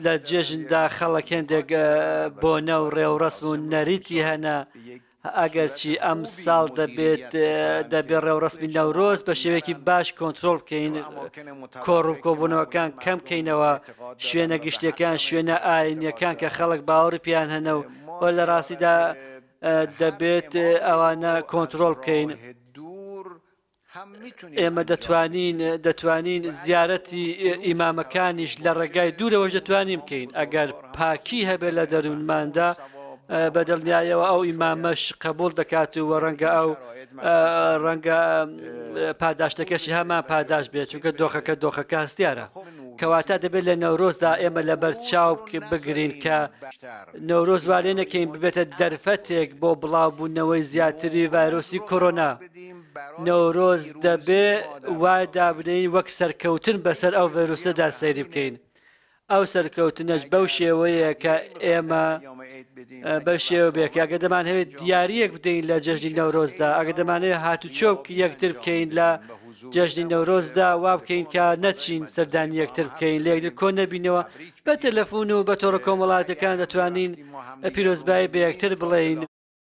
لە جێژندا خەڵک هێندێک بۆنە و ڕێوڕەسم و نەریتی هەنە، ئەگەرچی ئەم ساڵ دەبێت دەبێت ڕێوڕەسمی نەورۆز بە شێوەیەکی باش کۆنترۆڵ بکەین، کۆڕ و کۆبوونەوەکان کەم کەینەوە، شوێنە گشتیەکان، شوێنە ئاینیەکان کە خەڵک باوەڕی پێیان هەنە و لە ڕاستیدا دەبێت ئەوانە کۆنترۆڵ بکەین. ئێمە دەتوانین دەتوانین زیارەتی ئیمامەکانیش لە ڕێگای دوورەوەش دەتوانین بکەین ئەگەر پاکی هەبێت لە دەروونماندا بە دڵنیایەوە ئەو ئیمامەش قبول دەکات و ڕەنگە ئەو ڕەنگە پاداشتەکەشی هەمان پاداش بێت چونکە دۆخەکە دۆخەکە هەستیارە کەواتە دەبێت لە نەورۆزدا ئێمە لەبەر چاو بگرین کە نەورۆز وا لێ نەکەین ببێتە دەرفەتێک بۆ بڵاوبوونەوەی زیاتری ڤایرۆسی کۆرۆنا. نەورۆز دەبێ وا دابنێین وەک سەرکەوتن بەسەر ئەو ڤایرۆسەدا سەیری بکەین. ئەو سەرکەوتنەش بەو شێوەیە کە ئێمە بەو شێوە بێ کە ئەگەر دەمانهەوێت دیارییەک بدەین لە جەژنی نەورۆزدا، ئەگەر دەمانەوێت هاتوچۆ یەکتر بکەین لە جەژنی نەورۆزدا وا بکەین کە نەچین سەردانی یەکتر بکەین لە یەکتر کۆ نەبینەوە بە تەلەفون و بە تۆڕە کۆمەڵاتەکان دەتوانین پیرۆزبایی بە یەکتر بڵێین.